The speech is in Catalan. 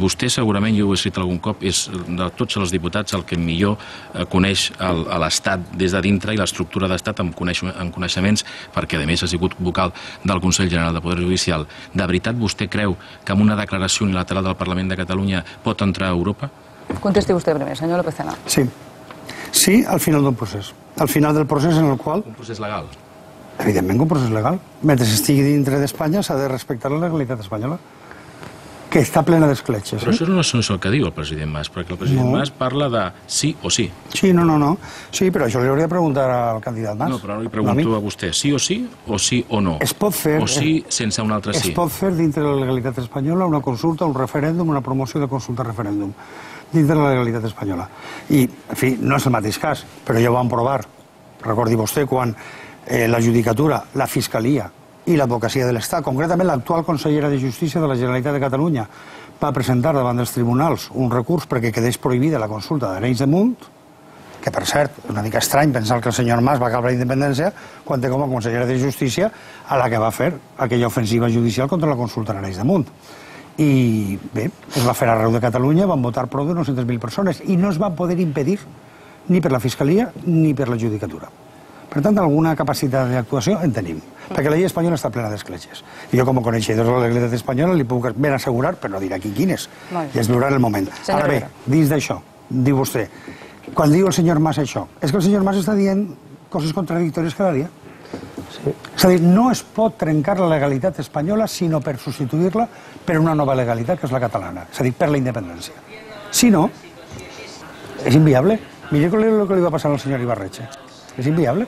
vostè segurament, jo ho he escrit algun cop, és de tots els diputats el que millor coneix l'Estat des de dintre i l'estructura d'Estat amb coneixements, perquè a més ha sigut vocal del Consell General de Poder Judicial. De veritat vostè creu que amb una declaració unilateral del Parlament de Catalunya pot entrar a Europa? Contesti vostè primer, senyor López Tena. Sí. Sí, al final d'un procés. Al final del procés en el qual... Un procés legal? Evidentment un procés legal. Mentre estigui dintre d'Espanya s'ha de respectar la legalitat espanyola, que està plena d'escletxes. Però això no és el que diu el president Mas, perquè el president Mas parla de sí o sí. Sí, no. Sí, però això li hauria de preguntar al candidat Mas. No, però no li pregunto a vostè, sí o no? Es pot fer... O sí sense un altre sí? Es pot fer dintre de la legalitat espanyola una consulta, un referèndum, una promoció de consulta-referèndum dintre de la legalitat espanyola. I, en fi, no és el mateix cas, però ja ho vam provar. Recordi vostè quan la judicatura, la Fiscalia i l'Advocacia de l'Estat, concretament l'actual consellera de Justícia de la Generalitat de Catalunya, va presentar davant dels tribunals un recurs perquè quedés prohibida la consulta d'Arenys de Munt, que, per cert, és una mica estrany pensar que el senyor Mas va acabar la independència quan té com a consellera de Justícia a la que va fer aquella ofensiva judicial contra la consulta d'Arenys de Munt. I bé, es va fer arreu de Catalunya, van votar prou de 900.000 persones i no es van poder impedir ni per la Fiscalia ni per la Judicatura. Per tant, alguna capacitat d'actuació en tenim, perquè la llei espanyola està plena d'escletxes. I jo, com a coneixedor de la legalitat espanyola, li puc ben assegurar, però no diré aquí quines, i es veurà en el moment. Ara bé, dins d'això, diu vostè, quan diu el senyor Mas això, és que el senyor Mas està dient coses contradictòries cada dia. És a dir, no es pot trencar la legalitat espanyola sinó per substituir-la per una nova legalitat, que és la catalana, és a dir, per la independència. Si no, és inviable. Mira el que li va passar al senyor Ibarretxe. És inviable.